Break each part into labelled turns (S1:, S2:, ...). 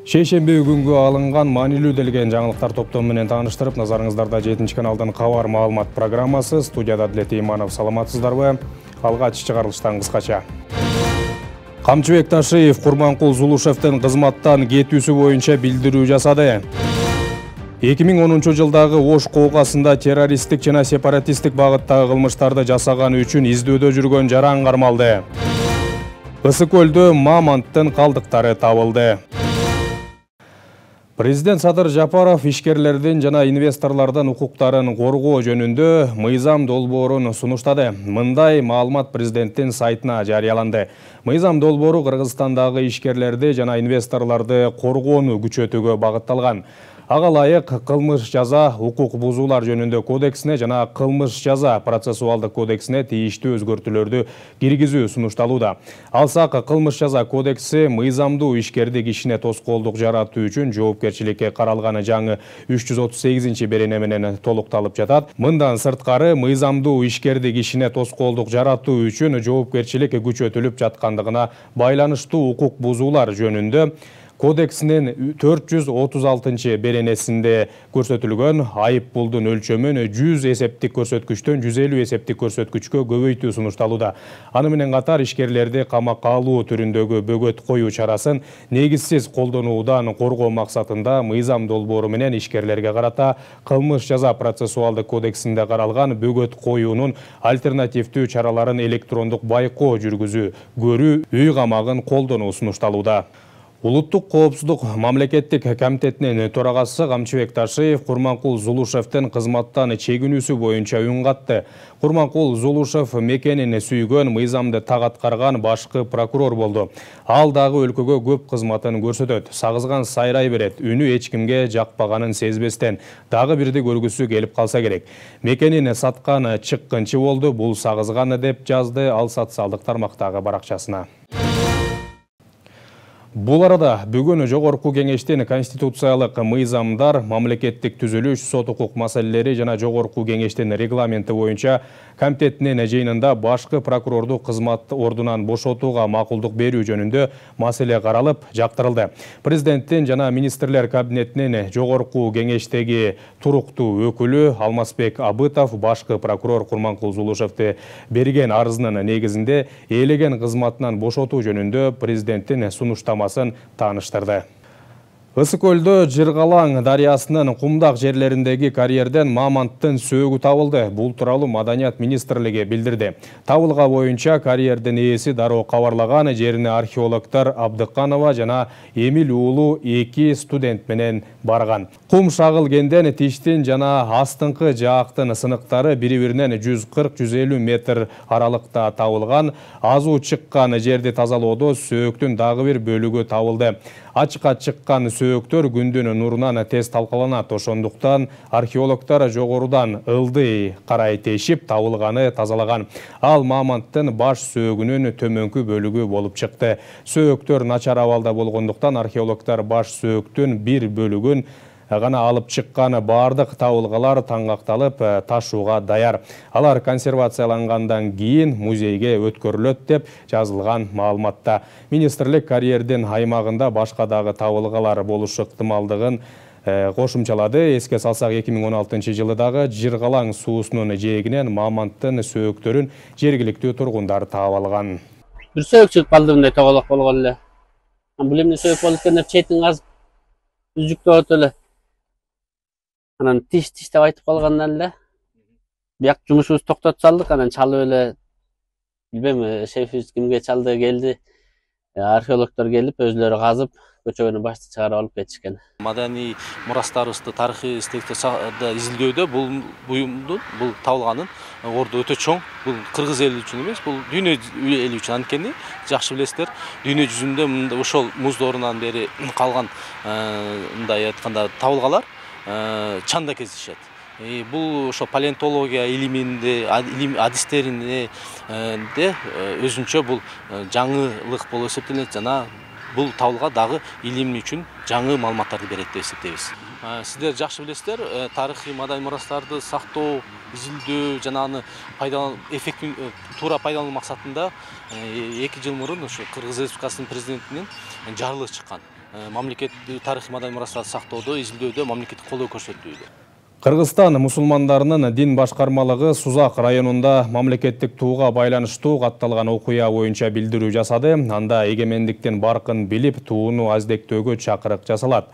S1: Шейшемби күнгө алынган маанилүү делген жаңылыктар топтому менен тааныштырып, назарыңыздарда 7 каналдан кабар маалымат программасы. Студияда Адилет Иманов. Саламатсыздарбы? Алгач чыгарылыштан кыскача. Камчыбек Ташиев Курманкул Зулушевдин кызматтан кетүүсү боюнча билдирүү жасады. 2010 жылдагы Ош коокасында террористтик жана сепаратисттик багыттагы кылмыштарды жасаганы үчүн издөөдө жүргөн жаран кармалды. Ысык көлдө мамонттун калдыктары табылды. Президент Садыр Жапаров ишкерлердин жана инвесторлордун укуктарын коргоо жөнүндө мыйзам долбоорун сунуштады. Мындай маалымат президенттин сайтына жарыяланды. Мыйзам долбоору Кыргызстандагы ишкерлерди жана инвесторлорду коргоону күчөтүүгө багытталган. Ага ылайык кылмыш жаза укук бузуулар жөнүндө кодексине жана кылмыш жаза процессуалдык кодексине тийиштүү өзгөртүүлөрдү киргизүү сунушталууда. Алсак, кылмыш жаза кодекси мыйзамдуу ишкерди кишине тоскоолдук жаратуу үчүн жоопкерчиликке каралганы жаңы 338-берене менен толукталып жатат. Мындан сырткары мыйзамдуу ишкерди кишине тоскоолдук жаратуу үчүн жоопкерчилик күчөтүлүп жаткандыгына байланыштуу укук бузуулар жөнүндө Кодексинин 436-беренесинде көрсөтүлгөн айып пулдун өлчөмүн 100 эсептик көрсөткүчтөн 150 эсептик көрсөткүчкө көбөйтүү сунушталууда. Аны менен катар ишкерлерди камакка алуу түрүндөгү бөгөт коюу чарасын негизсиз колдонуудан коргоо максатында мыйзам долбоору менен ишкерлерге карата кылмыш жаза процессуалдык кодексинде каралган бөгөт коюунун альтернативдүү чараларын электрондук байкоо жүргүзүү, көрүү, үй камагын колдонуу сунушталууда. Улуттук коопсуздук мамлекеттик комитетинин төрагасы Камчыбек Ташиев Курманкул Зулушевдин кызматтан чегинүүсү боюнча үн катты. Курманкул Зулушев мекенин сүйгөн, мыйзамды так аткарган башкы прокурор болду. Ал дагы өлкөгө көп кызматын көрсөтөт. Сагызган сайрай берет, үнү эч кимге жакпаганын сезбестен, дагы бирди көргүсү келип калса керек. Мекенин саткан чыккынчы болду, бул сагызган деп жазды ал социалдык тармактагы баракчасына. Бул арада бүгүн Жогорку кеңештин конституциялык мыйзамдар, мамлекеттик түзүлүш, сот укук маселелери жана Жогорку кеңештин регламенти боюнча комитетинин жыйынында башкы прокурорду кызмат ордунан бошотууга макулдук берүү жөнүндө маселе каралып, жактырылды. Президенттин жана министрлер кабинетинин Жогорку кеңештеги туруктуу өкүлү Алмазбек Абытов башкы прокурор Курманкул Зулушевди берген арызынын негизинде ээлеген кызматынан бошотуу жөнүндө президенттин сунуштамасы тааныштырды. Ысык көлдө Жыргалаң дарыясынын кумдак жерлериндеги карьерден мамонттун сөөгү табылды. Бул тууралуу Маданият министрлиги билдирди. Табылга боюнча карьердин ээси дароо кабарлаган, жерине археологдор Абдыканова жана Эмил уулу 2 студент менен барган. Кум шагылгенден тиштин жана астыңкы жаактын сыныктары бири-биринен 140-150 метр аралыкта табылган. Азуу чыккан жерди тазалоодо сөөктүн дагы бир бөлүгү табылды. Ачыкка чыккан сөөктөр күндүн нурунан тез талкаланат. Ошондуктан археологдор жогорудан ылдый карай тешип табылганы тазалаган. Ал мамонттун баш сөөгүнүн төмөнкү бөлүгү болуп чыкты. Сөөктөр начар абалда болгондуктан археологдор баш сөөктүн бир бөлүгүн гана алып чыккан, бардык табылгалар таңгакталып ташууга даяр. Алар консервациялангандан кийин музейге өткөрүлөт деп жазылган маалыматта. Министрлик карьердин аймагында башка дагы табылгалар болушу ыктымалдыгын кошумчалады. Эске салсак, 2016 жылы дагы Жыргалаң суусунун жээгинен мамонттун сөөктөрүн жергиликтүү тургундар таап алган.
S2: Бир сөөк чыгып калды, мындай тоголок болгон эле. Бул эмне сөөк болуп экен деп четин казып үзүктөп эле. Анан тиш деп айтып калгандан эле бияк жумушубузду токтотуп салдык. Анан чалып эле, билбейм, шефибиз кимге чалды, келди. Археологдор келип, өзлөрү казып, көчөгөнү башты чыгарып алып кетишкен.
S3: Маданий мурастарыбызды, тарыхый эстеликтерди изилдөөдө бул буюмдун, бул табылганын орду өтө чоң. Бул кыргыз эли үчүн эмес, бул дүйнө эли үчүн. Анткени жакшы билесиздер, дүйнө жүзүндө ошол муз доорунан бери калган мындай айтканда табылгалар чанда кездешет. Бул ошо палеонтология илиминде, адистеринде өзүнчө бул жаңылык болуп эсептелет жана бул табылга дагы илим үчүн жаңы маалыматтарды берет деп эсептейбиз. Сиздер жакшы билесиздер, тарыхый маданий мурастарды сактоо, изилдөө жана аны эффектин туура пайдалануу максатында 2 жыл мурун ошо Кыргыз Республикасынын президентинин жарлыгы чыккан. мамлекеттик тарыхый маданий мурастарды сактоодо, изилдөөдө мамлекеттик колдоо көрсөтүүдө.
S1: Кыргызстан мусулмандарынын дин башкармалыгы Сузак районунда мамлекеттик тууга байланыштуу катталган окуя боюнча билдирүү жасады. Анда эгемендиктин баркын билип, тууну аздектөөгө чакырык жасалат.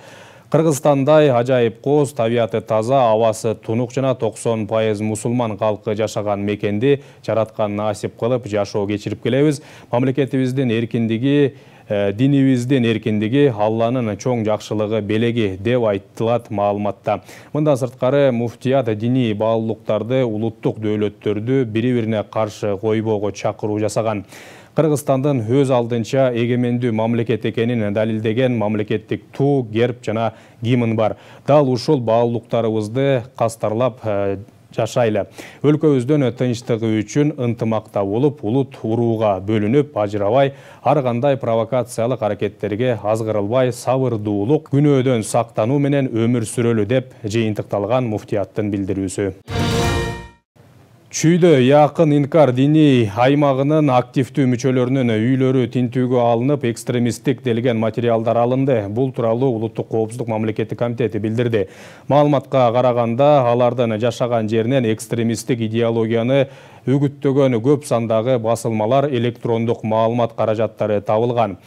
S1: Кыргызстандай ажайып коз, табияты таза, абасы тунук жана 90% мусулман калкы жашаган мекенди жараткан насип кылып жашоо кечирип келебиз. Мамлекетибиздин эркиндиги, динибиздин эркиндиги Алланын чоң жакшылыгы белеги деп айтылат маалыматта. Мындан сырткары муфтият диний баалуулуктарды, улуттук дөөлөттөрдү бири-бирине каршы койбоого чакыруу жасаган. Кыргызстандын өз алдынча эгемендүү мамлекет экенин далилдеген мамлекеттик туу, герб жана гимн бар. Дал ушул баалуулуктарыбызды кастарлап жашайлы. Өлкөбүздүн тынчтыгы үчүн ынтымакта болуп, улут урууга бөлүнүп, ажырабай, ар кандай провокациялык аракеттерге азгырылбай, сабырдуулук, күнөөдөн сактануу менен өмүр сүрөлү деп жыйынтыкталган муфтияттын билдирүүсү. Чүйдө Якын Инкар диний аймагынын активдүү мүчөлөрүнүн үйлөрү тинтүүгө алынып, экстремисттик делген материалдар алынды. Бул тууралуу Улуттук коопсуздук мамлекеттик комитети билдирди. Маалыматка караганда, алардын жашаган жеринен экстремисттик идеологияны үгүттөгөн көп сандагы басылмалар, электрондук маалымат каражаттары табылган.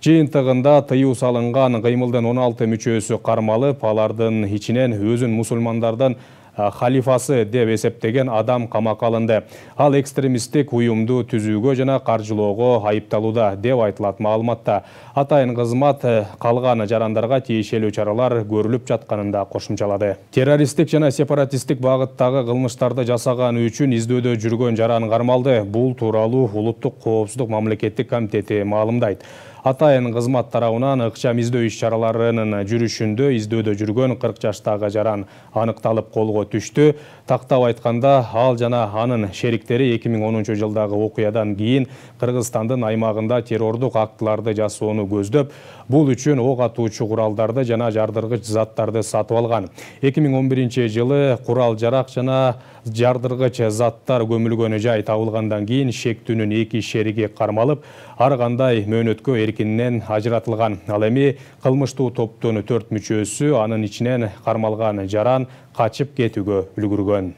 S1: Жыйынтыгында тыюу салынган кыймылдын 16 мүчөсү кармалып, алардын ичинен өзүн мусулмандардын халифасы деп эсептеген адам камакка алынды. Ал экстремисттик уюмду түзүүгө жана каржылоого айыпталууда деп айтылат маалыматта. Атайын кызмат калган жарандарга тиешелүү чаралар көрүлүп жатканында кошумчалады. Террористтик жана сепаратисттик багыттагы кылмыштарды жасаган үчүн издөөдө жүргөн жаран кармалды. Бул тууралуу Улуттук коопсуздук мамлекеттик комитети маалымдайт. Атайын кызмат тарабынан ыкчам издөө иш-чараларынын жүрүшүндө издөөдө жүргөн 40 жаштагы жаран аныкталып колго түштү. Тактап айтканда, ал жана анын шериктери 2010 жылдагы окуядан кийин Кыргызстандын аймагында террордук актыларды жасоону көздөп, бул үчүн ок атуучу куралдарды жана жардыргыч заттарды сатып алган. 2011 жылы курал-жарак жана жардыргыч заттар көмүлгөн жай табылгандан кийин шектүүнүн 2 шериги кармалып, ар кандай мөөнөткө эркинен ажыратылган. Ал эми кылмыштуу топтун 4 мүчөсү, анын ичинен кармалган жаран качып кетүүгө үлгүргөн.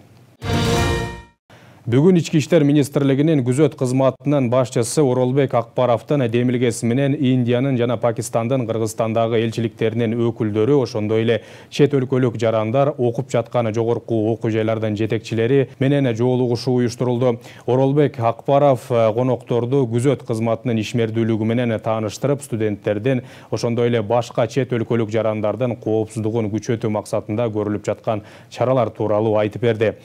S1: Бүгүн Ички иштер министрлигинин күзөт кызматынын башчысы Оролбек Акбаровдун демилгеси менен Индиянын жана Пакистандын Кыргызстандагы элчиликтеринин өкүлдөрү, ошондой эле чет өлкөлүк жарандар, окуп жаткан жогорку окуу жайлардын жетекчилери менен жолугушуу уюштурулду. Оролбек Акбаров конокторду күзөт кызматынын ишмердүүлүгү менен тааныштырып, студенттердин, ошондой эле башка чет өлкөлүк жарандардын коопсуздугун күчөтүү максатында көрүлүп жаткан чаралар тууралуу айтып берди.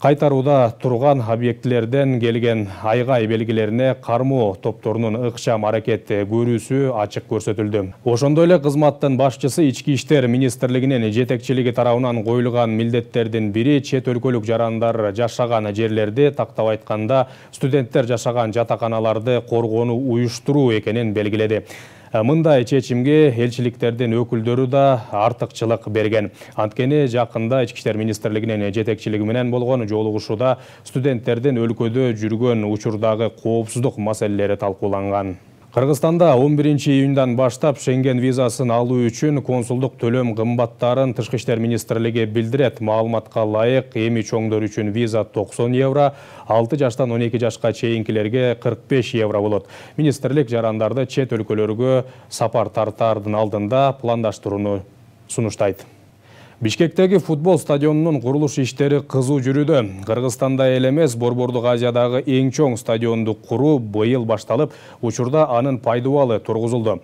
S1: Кайтарууда турган объектилерден келген айгай белгилерине кармоо топторунун ыкчам аракет көрүүсү ачык көрсөтүлдү. Ошондой эле кызматтын башчысы Ички иштер министрлигинин жетекчилиги тарабынан коюлган милдеттердин бири чет өлкөлүк жарандар жашаган жерлерди, тактап айтканда студенттер жашаган жатаканаларды коргоону уюштуруу экенин белгиледи. Мындай чечимге элчиликтердин өкүлдөрү да артыкчылык берген. Анткени жакында Ички иштер министрлигинин жетекчилиги менен болгон жолугушууда студенттердин өлкөдө жүргөн учурдагы коопсуздук маселелери талкууланган. Кыргызстанда 11 июндан баштап Шенген визасын алуу үчүн консулдук төлөм кымбаттарын Тышкы иштер министрлиги билдирет. Маалыматка ылайык, эми чоңдор үчүн виза 90 евро, 6 жаштан 12 жашка чейинкилерге 45 евро болот. Министрлик жарандарды чет өлкөлөргө сапар тартаардын алдында пландаштырууну сунуштайт. Бишкектеги футбол стадионунун курулуш иштери кызуу жүрүүдө. Кыргызстанда эле эмес, Борбордук Азиядагы эң чоң стадионду куруу быйыл башталып, учурда анын пайдубалы тургузулду.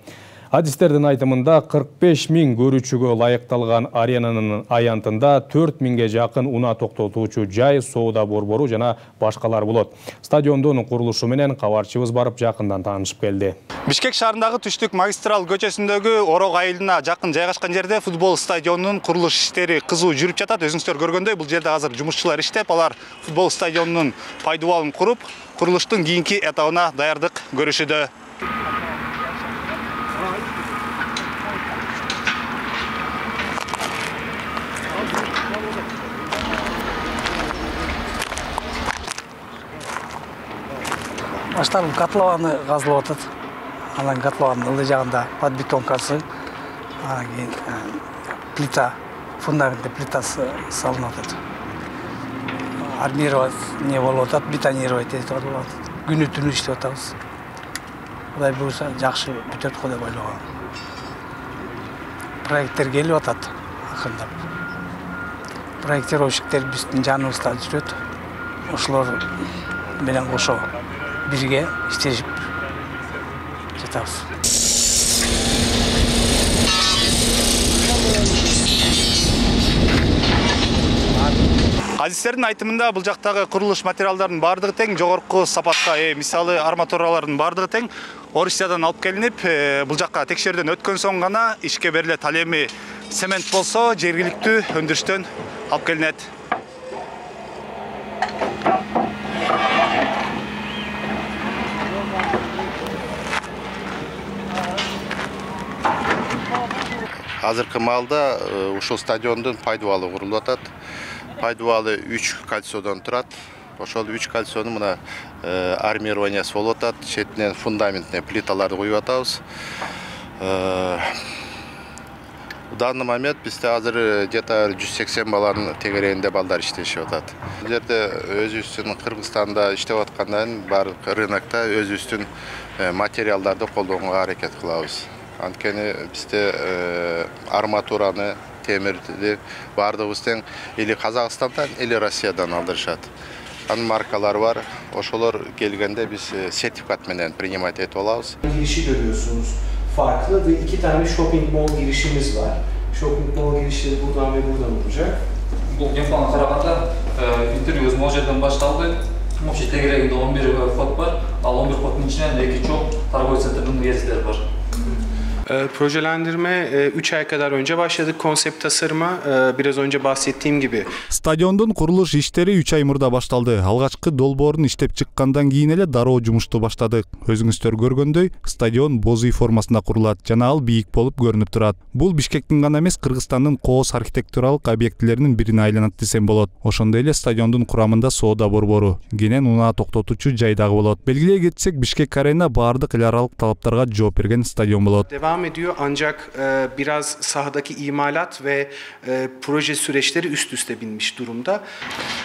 S1: Адистердин айтымында 45 000 көрүүчүгө ылайыкталган аренанын аянтында 4 000ге жакын унаа токтотуучу жай, соода борбору жана башкалар болот. Стадиондун курулушу менен кабарчыбыз барып жакындан таанышып келди.
S4: Бишкек шаарындагы Түштүк магистрал көчөсүндөгү Орок айылына жакын жайгашкан жерде футбол стадионунун курулуш иштери кызуу жүрүп жатат. Өзүңүздөр көргөндөй, бул жерде азыр жумушчулар иштеп, алар футбол стадионунун пайдубалын куруп, курулуштун кийинки этабына даярдык көрүшүдө.
S5: Башталып котлованы казылып атат. Анан котлованын ылдый жагында подбетонкасы Анан кийин плита, фундаментте плитасы салынып атат. Армировать не болуп атат, бетонировать этип атат. Күнү-түнү иштеп атабыз. Кудай буйруса жакшы бүтөт го деп ойлогом. Проекттер келип атат акырындап. Проектировщиктер биздин жаныбызда жүрөт. Ошолор менен кошо бирге иштешип жатабыз.
S4: Азиздердин айтымында бул жактагы курулуш материалдарынын бардыгы тең, жогорку сапатка ээ. Мисалы арматуралардын бардыгы тең Орусиядан алып келинип, бул жакка текшерүүдөн өткөн соң гана ишке берилет. Ал эми цемент болсо жергиликтүү өндүрүштөн алып келинет.
S6: Азыркы маалда ушул стадиондун пайдубалы курулуп атат. Пайдубалы 3 кольцодон турат. Ошол 3 кольцонун мына армированиясы болуп атат. Четинен фундаментне плиталарды коюп атабыз. В данный момент бизде азыр где-то 180 баланын тегерегинде балдар иштешип атат. Бул жерде өзүбүздүн Кыргызстанда иштеп аткандан баардык рынокто өзүбүздүн материалдарды колдонууга аракет кылабыз. Анткени бизде арматураны, темирди баардыгыбыз тең или Казакстандан, или Россиядан алдырышат. Анын маркалары бар. Ошолор келгенде биз сертификат менен принимать этип алабыз.
S7: Girişi görüyorsunuz. Farklı ve 2 tane shopping mall girişimiz var. Shopping mall girişleri buradan ve buradan olacak.
S8: Бұл геймпланға қарағанда интервью өзім ол жерден башталды. Вообще тегерегінде 11 код бар, ал 11 kodun içinden de 2 çok торговый центрдің gezileri var.
S7: Projelendirme 3 ay kadar önce başladık. Konsept tasarıma biraz önce bahsettiğim gibi.
S9: Stadioндун курулуш иштери 3 ай мурда башталды. Алгачкы долбоорун иштеп чыккандан кийин эле дароо жумушту баштадык. Өзүңүздөр көргөндөй, стадион боз үй формасында курулат жана ал бийик болуп көрүнүп турат. Бул Бишкектин гана эмес, Кыргызстандын кооз архитектуралык объектилеринин бирине айланат десем болот. Ошондой эле стадиондун курамында соода борбору, кенен унаа токтотуучу жай дагы болот. Белгилей кетсек, Бишкек Арена баардык эл аралык талаптарга жооп берген стадион болот.
S7: Devam ediyor ancak biraz sahadaki imalat ve proje süreçleri üst üste binmiş durumda.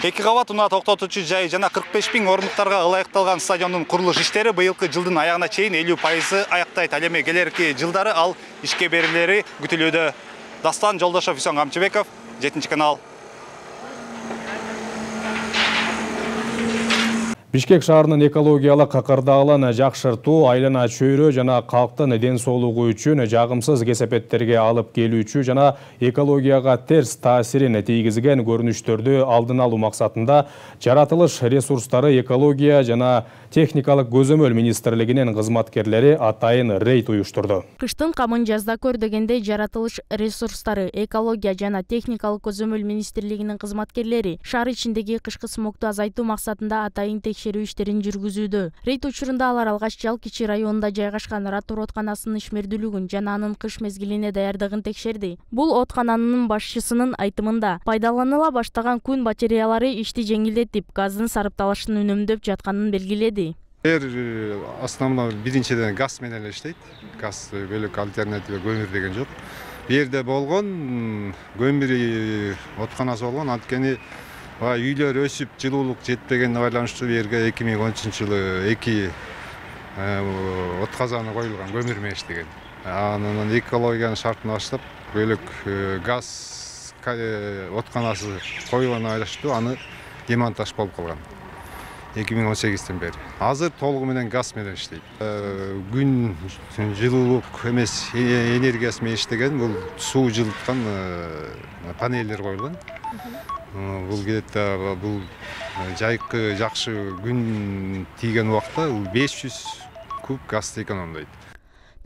S4: Эки кабат унаа токтотуучу жай жана 45 000 орундуктарга ылайыкталган стадиондун курулуш иштери быйылкы жылдын аягына чейин 50% аяктайт. Ал эми келерки жылдары ал ишке берилери күтүлүүдө. Дастан Жолдошов, Үсөн Камчыбеков, 7-канал.
S1: Бишкек шаарынын экологиялык кырдаалын жакшыртуу, айлана чөйрө жана калктын ден соолугу үчүн жагымсыз кесепеттерге алып келүүчү жана экологияга терс таасирин тийгизген көрүнүштөрдү алдын алуу максатында жаратылыш ресурстары, экология жана техникалык көзөмөл министрлигинин кызматкерлери атайын рейд уюштурду.
S10: Кыштын камын жазда көр дегендей жаратылыш ресурстары, экология жана техникалык көзөмөл министрлигинин кызматкерлери шаар ичиндеги кышкы смогду азайтуу максатында атайын текшерүү иштерин жүргүзүүдө. Рейд учурунда алар алгач Жалкичи районунда жайгашкан Ратур отканасынын ишмердүүлүгүн жана анын кыш мезгилине даярдыгын текшерди. Бул откананын башчысынын айтымында пайдаланыла баштаган күн батареялары ишти жеңилдетип, газдын сарыпталышын үнөмдөп жатканын белгиледи.
S11: Основно биринчиден газ менен иштейт. Газ бөлөк альтернатива көмүр деген жок. Бу жерде болгон көмүр отканасы болгон, анткени үйлөр өсүп, жылуулук жетпегенине байланыштуу бу жерге 2013-жылы 2 отказаны коюлган, көмүр менен иштеген. Анан экологиянын шартын баштап бөлөк газ отканасы коюлган байланыштуу аны демонтаж болуп калган. 2018-тен бери. Азыр толугу менен газ менен иштейт. Күн жылуулук эмес энергиясы менен иштеген, бул суу жылыткан панелдер коюлган. Бул кетте бул жайкы жакшы күн тийген убакта 500 куб газ экономдойт.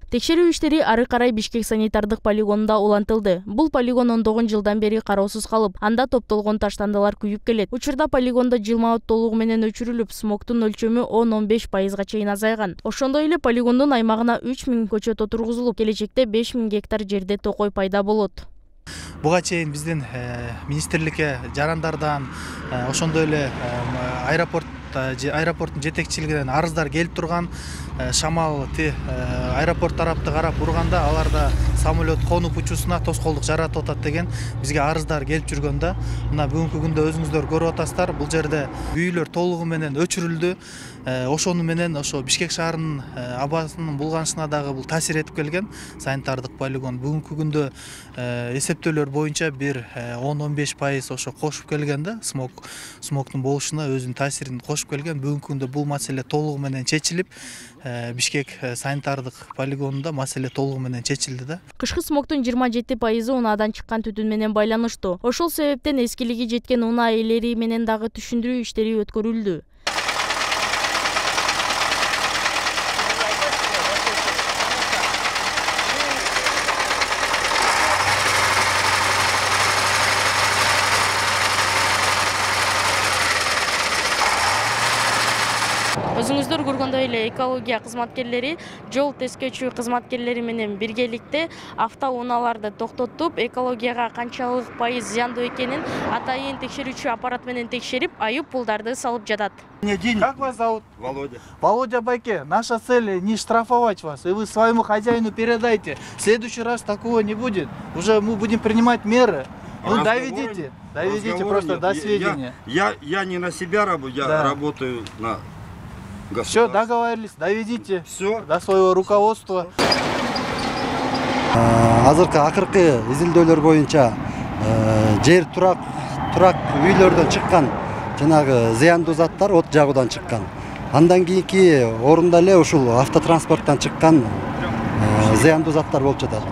S10: Текшерүү иштери ары карай Бишкек санитардык полигонунда улантылды. Бул полигон 19 жылдан бери кароосуз калып, анда топтолгон таштандылар күйүп келет. Учурда полигондо жылмаат толугу менен өчүрүлүп, смогтун өлчөмү 10-15% чейин азайган. Ошондой эле полигондун аймагына 3000 көчөт отургузулуп, келечекте 5000 гектар жерде токой пайда болот.
S12: Буга чейин биздин министрликке жарандардан, ошондой эле аэропорт аэропорттун жетекчилигинен арыздар келип турган. Шамал аэропорт тарапты карап урганда аларда самолет конуп учуусуна тоскоолдук жаратып атат деген бизге арыздар келип жүргөн да. Мына бүгүнкү күндө өзүңүздөр көрүп атасыздар, бул жерде үйүлөр толугу менен өчүрүлдү. Ошону менен ошо Бишкек шаарынын абасынын булганышына дагы бул таасир этип келген. Санитардык полигон бүгүнкү күндө эсептөөлөр боюнча бир 10-15% ошо кошуп келген да, смогтун болушуна өзүнүн таасирин кошуп келген. Бүгүнкү күндө бул маселе толугу менен чечилип, Бишкек санитардык полигонунда маселе толугу менен чечилди да.
S10: Кышкы смогтун 27% унаадан чыккан түтүн менен байланыштуу. Ошол себептен эскилиги жеткен унаа ээлери менен дагы түшүндүрүү иштери өткөрүлдү. Өзүңүздөр көргөндөй эле экология кызматкерлери жол тескечүү кызматкерлери менен биргеликте автоунааларды токтотуп, экологияга канчалык пайыз зыяндуу экенин атайын текшерүүчү аппарат менен текшерип, айып пулдарды салып жатат.
S12: Как вас зовут?
S13: Володя.
S12: Володя Байке, наша цель не штрафовать вас, и вы своему хозяину передайте. В следующий раз такого не будет. Уже мы будем принимать меры. Ну, доведите просто до сведения.
S13: Я не на себя работаю, я работаю на государство.
S12: Все, договорились, доведите до своего руководства.
S14: Акыркы изилдөөлөр боюнча жер турак үйлөрдөн чыккан жанагы зыяндуу заттар от жагуудан чыккан. Андан кийинки орунда эле ушул автотранспорттан чыккан зыяндуу заттар болуп жатат.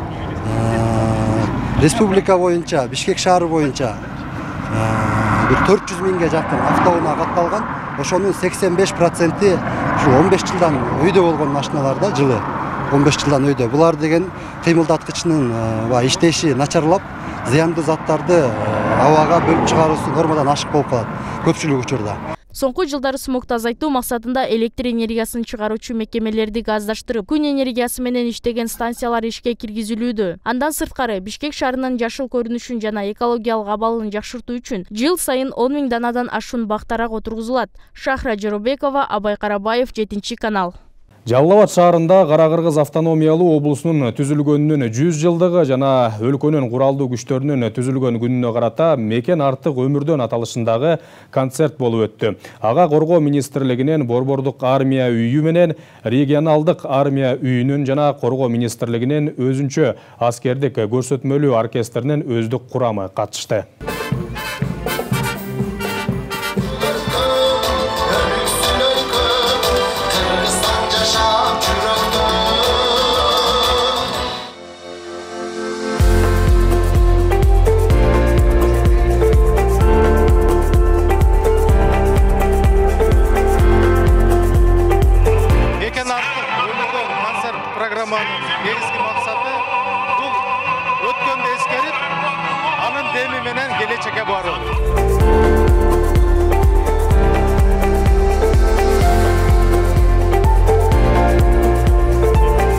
S14: Республика боюнча, Бишкек шаары боюнча бир 400 миңге жакын автоунаа катталган. Ошонун 85% ушу 15 жылдан өйдө болгон машиналарда жылы 15 жылдан өйдө. Булар деген кыймылдаткычынын иштеши начарлап, зыяндуу заттарды абага бөлүп чыгаруусу нормадан ашык болуп калат көпчүлүк учурда.
S10: Соңку жылдары смогду азайтуу максатында электр энергиясын чыгаруучу мекемелерди газдаштырып, күн энергиясы менен иштеген станциялар ишке киргизилүүдө. Андан сырткары Бишкек шаарынын жашыл көрүнүшүн жана экологиялык абалын жакшыртуу үчүн жыл сайын 10 000 данадан ашуун бактарак отургузулат. Шахра Жоробекова, Абай Карабаев, 7-канал.
S1: Жалал Абад шаарында Кара-Кыргыз автономиялуу облусунун түзүлгөнүнүн 100 жылдыгы жана өлкөнүн куралдуу күчтөрүнүн түзүлгөн күнүнө карата мекен артык өмүрдөн аталышындагы концерт болуп өттү. Ага Коргоо министрлигинин Борбордук армия үйү менен регионалдык армия үйүнүн жана Коргоо министрлигинин өзүнчө аскердик көрсөтмөлүү оркестринин өздүк курамы катышты.
S4: Негизги максаты бул өткөндү эскерип, анын деми менен келечекке баруу.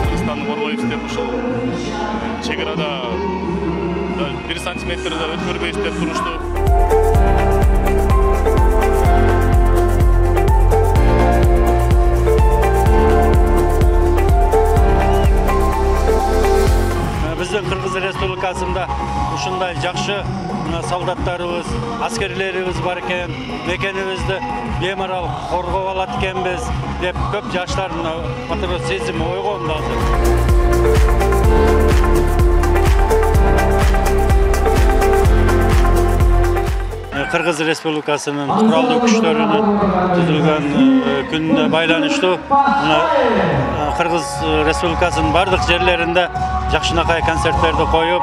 S4: Кыргызстандын коргойбуз деп ушул чек арада 1 сантиметрди өткөрбөйбүз деп турушту. Биздин Кыргыз Республикасында ушундай жакшы солдаттарыбыз, аскерлерибиз бар экен, мекенибизди бемарал коргоп алат экенбиз деп көп жаштардын патриот сезими ойгонду азыр. Кыргыз Республикасынын куралдуу күчтөрүнүн түзүлгөн күнүнө байланыштуу Кыргыз Республикасынын бардык жерлеринде жакшынакай концерттерди коюп,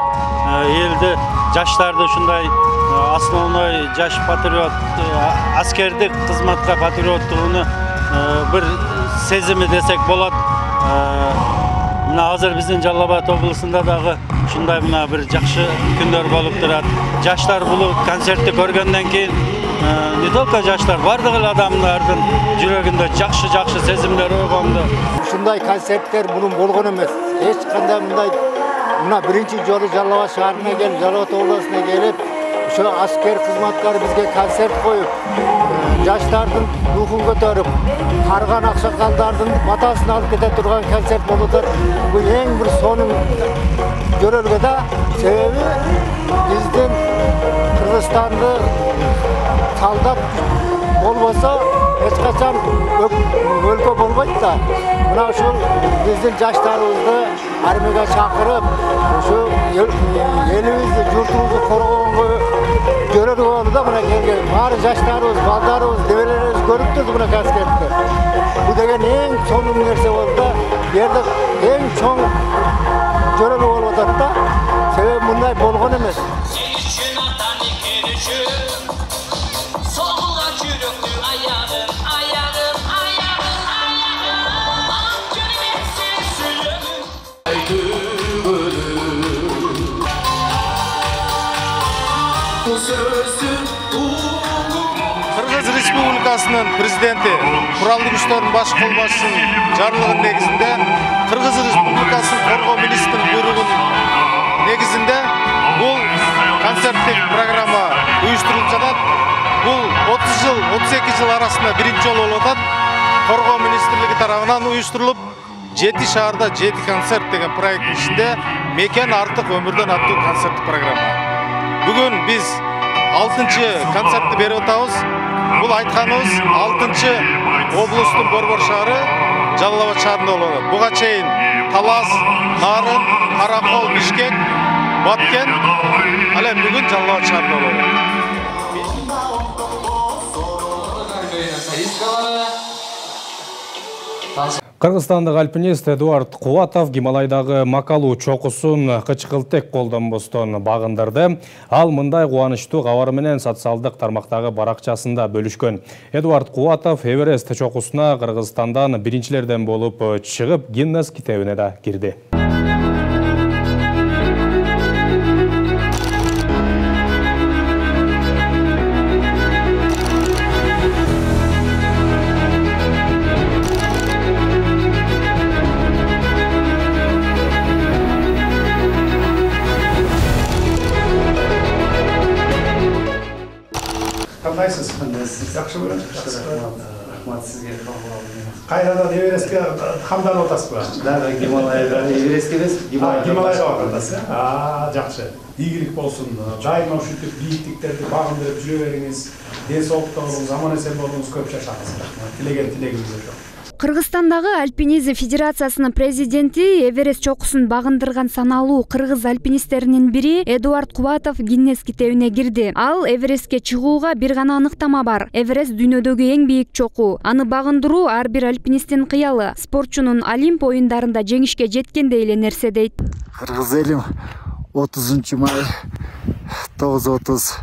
S4: элди, жаштарды ушундай основной жаш патриот, аскердик кызматка патриоттугуну бир сезими десек болот. Мына азыр биздин Жалал Абад облусунда дагы ушундай бир жакшы күндөр болуп турат. Жаштар бул концертти көргөндөн кийин не только жаштар, бардык эле адамдардын жүрөгүндө жакшы сезимдер ойгонду.
S15: Ушундай концерттер мурун болгон эмес. Эч кандай мына биринчи жолу Жалал Абад шаарына келип, Жалал Абад облусуна келип, ошо аскер кызматкар бизге концерт коюп, жаштардын рухун көтөрүп, карган аксакалдардын батасын алып кете турган концерт болуп атат. Бул эң бир сонун көрөргө да, себеби биздин Кыргызстанды талдап болбосо эч качан өлкө болбойт да. Мына ушул биздин жаштарыбызды армияга чакырып, ушу элибизди, журтубузду коргогонго көрөргө болду да мына келген. Баары жаштарыбыз, балдарыбыз, дебелерибиз көрүп турду мына концертти. Бул деген эң сонун нерсе болду да. Бу жерде эң чоң көрөргө болуп атат да. Себеби мындай болгон эмес.
S16: Кыргыз Республикасынын президенти, куралдуу күчтөрдүн баш колбашчысынын жарлыгынын негизинде, Кыргыз Республикасынын коргоо министринин буйругунун негизинде бул концерттик программа уюштурулуп жатат. Бул 30 жыл, 32 жыл арасында биринчи жолу болуп атат. Коргоо министрлиги тарабынан уюштурулуп, 7 шаарда 7 концерт деген проекттин ичинде мекен артык өмүрдөн аттуу концерттик программа. Бүгүн биз 6-чы концертти берип атабыз. Бул айтканыбыз 6-чы облустун борбор шаары Жалал Абад шаарында болот. Буга чейин Талас, Нарын, Каракол, Бишкек, Баткен, ал эми бүгүн Жалал Абад шаарында болот.
S1: Кыргызстандык альпинист Эдуард Кубатов Гималайдагы Макалуу чокусун кычкылтек колдонбостон багындырды. Ал мындай кубанычтуу кабар менен социалдык тармактагы баракчасында бөлүшкөн. Эдуард Кубатов Эверест чокусуна Кыргызстандан биринчилерден болуп чыгып, Гиннес китебине да кирди.
S17: Кандайсыз? Жакшы болот. Рахмат сизге. Кайрадан Эверестке камданып атасызбы?
S7: Да, Гималайга Эверестке эмес,
S17: Гималайга барасыз. Жакшы. Ийгилик болсун. Дайыма ушинтип бийиктиктерди багындырып жүрө бериңиз. Ден соолукта болуңуз, аман эсен болуңуз, көп жашаңыз. Тилеген тилегибиз ошо.
S18: Кыргызстандагы Альпинизм Федерациясынын президенти Эверест чокусун багындырган саналуу кыргыз альпинисттеринин бири Эдуард Кубатов Гиннес китебине кирди. Ал Эверестке чыгууга бир гана аныктама бар. Эверест дүйнөдөгү эң бийик чоку. Аны багындыруу ар бир альпинисттин кыялы. Спортчунун Олимп оюндарында жеңишке жеткендей эле нерсе дейт.
S19: Кыргыз элим 30 май 9:30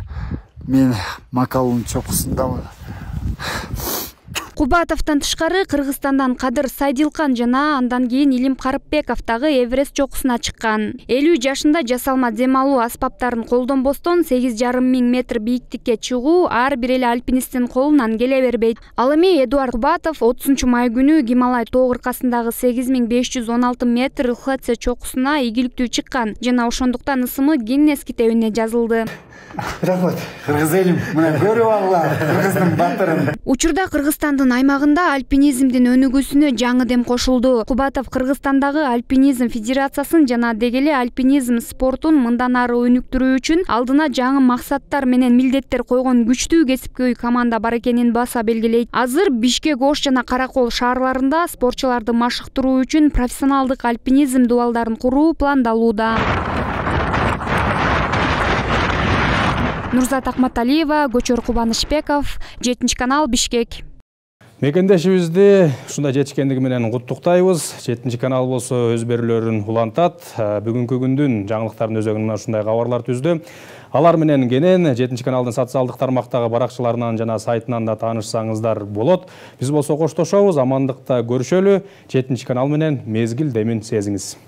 S19: мен Макалуунун чокусундамын.
S18: Кубатовдон тышкары Кыргызстандан Кадыр Сайдилкан жана андан кийин Илим Карыпбеков дагы Эверест чокусуна чыккан. 50 жашында жасалма дем алуу аспаптарын колдонбостон 8,5 миң метр бийиктикке чыгуу ар бир эле альпинисттин колунан келе бербейт. Ал эми Эдуард Кубатов 30 май күнү Гималай тоо кыркасындагы 8516 метр ЛХЦ чокусуна ийгиликтүү чыккан жана ошондуктан ысымы Гиннес китебине жазылды.
S19: Рахмат. Кыргыз элим, мына көрүп алгыла Кыргыздын батырын.
S18: Учурда Кыргызстандын аймагында альпинизмдин өнүгүүсүнө жаңы дем кошулду. Кубатов Кыргызстандагы Альпинизм Федерациясын жана дегеле альпинизм спортун мындан ары өнүктүрүү үчүн алдына жаңы максаттар менен милдеттер койгон күчтүү кесипкөй команда бар экенин баса белгилейт. Азыр Бишкек, Ош жана Каракол шаарларында спортчуларды машыктыруу үчүн профессионалдык альпинизм дубалдарын куруу пландалууда. Нурзат Акматалиева, Көчөр Кубанычбеков, 7 канал, Бишкек.
S1: Мекендешибизди ушундай жетишкендиги менен куттуктайбыз. 7 канал болсо өз берүүлөрүн улантат. Бүгүнкү күндүн жаңылыктардын өзөгүнөн ушундай кабарлар түздү. Алар менен кенен 7 каналдын социалдык тармактагы баракчаларынан жана сайтынан да таанышсаңыздар болот. Биз болсо коштошобуз, амандыкта көрүшөлү. 7 канал менен мезгил демин сезиңиз.